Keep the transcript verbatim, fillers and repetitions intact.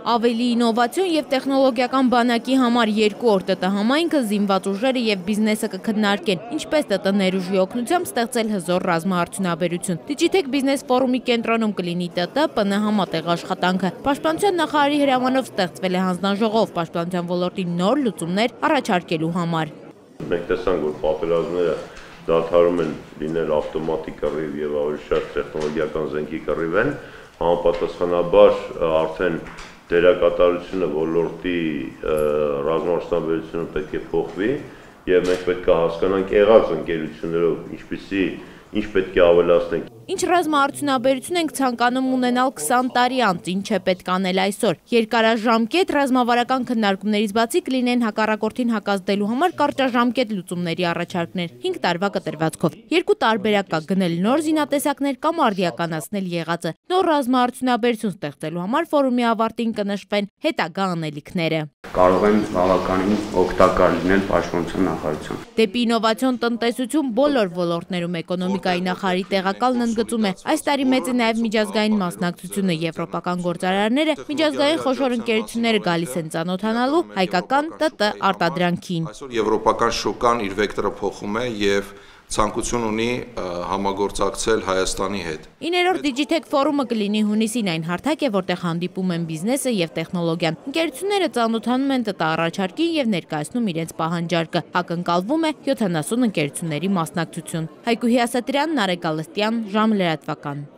Ավելի ինովացիոն եւ տեխնոլոգիական բանակի համար երկու օր ՏՏ համայնքը զինված ուժերը եւ բիզնեսը կքննարկեն, ինչպես ՏՏ ներուժի օգնությամբ ստեղծել հզոր ռազմաարդյունաբերություն։ Digitech Business Forum-ի կենտրոնում կլինի ՏՏ ՊՆ համատեղ աշխատանքը։ Պաշտպանության նախարարի հրամանով ստեղծվել է հանձնաժողով պաշտպանության ոլորտի նոր լուծումներ առաջարկելու համար։ Մենք տեսանք, որ պատերազմները դադարում են լինել ավտոմատիկ կռիվ եւ ավելի շատ տեխնոլոգիական զենքի կռիվ են, համապատասխանաբար արդեն դերակատարությունը ոլորտի ռազմաարդյունաբերությունը պետք է փոխվի եւ մենք պետք է հասկանանք եղած ընկերություններով ինչպիսի ինչ պետք է ավելացնենք։ Ինչ ռազմաարդյունաբերություն ենք ցանկանում ունենալ քսան տարի անց, ինչ է պետք անել այսօր։ Երկարաժամկետ ռազմավարական քննարկումներից բացի կլինեն հակառակորդին հակազդելու համար կարճաժամկետ լուծումների առաջարկներ հինգ տարվա կտրվածքով։ Երկու տարբերակ կա՝ գնել նոր զինատեսակներ կամ արդիականացնել եղածը։ Նոր ռազմաարդյունաբերություն ստեղծելու համար ֆորումի ավարտին կնշվեն հետագա անելիքները։ Կարող են բավականին օգտակար լինել պաշտպանության նախարարության։ Դեպի ինովացիոն տնտեսություն բոլոր ոլորտներում էկոնոմիկայի նախարարի տեղակալն ընդգծում է, այս տարի մեծ է նաև միջազգային մասնակցությունը, եվրոպական գործարարները, միջազգային խոշոր ընկերությունները գալիս են ծանոթանալու հայկական ՏՏ արտադրանքին։ Այսօր եվրոպական շուկան իր վեկտորը փոխում է եւ ցանկություն ունի համագործակցել Հայաստանի հետ։ Իներորդ Digitech Forum-ը կլինի հունիսին, այն հարթակ է, որտեղ հանդիպում են բիզնեսը եւ տեխնոլոգիան։ Ընկերությունները ծանոթանում են ՏՏ առաջարկին եւ ներկայացնում իրենց պահանջարկը։ Ակնկալվում է յոթանասուն ընկերությունների մասնակցություն։ Հայկուհի Ասատրյան, Նարեկ Գալստյան, Ժամ լրատվական։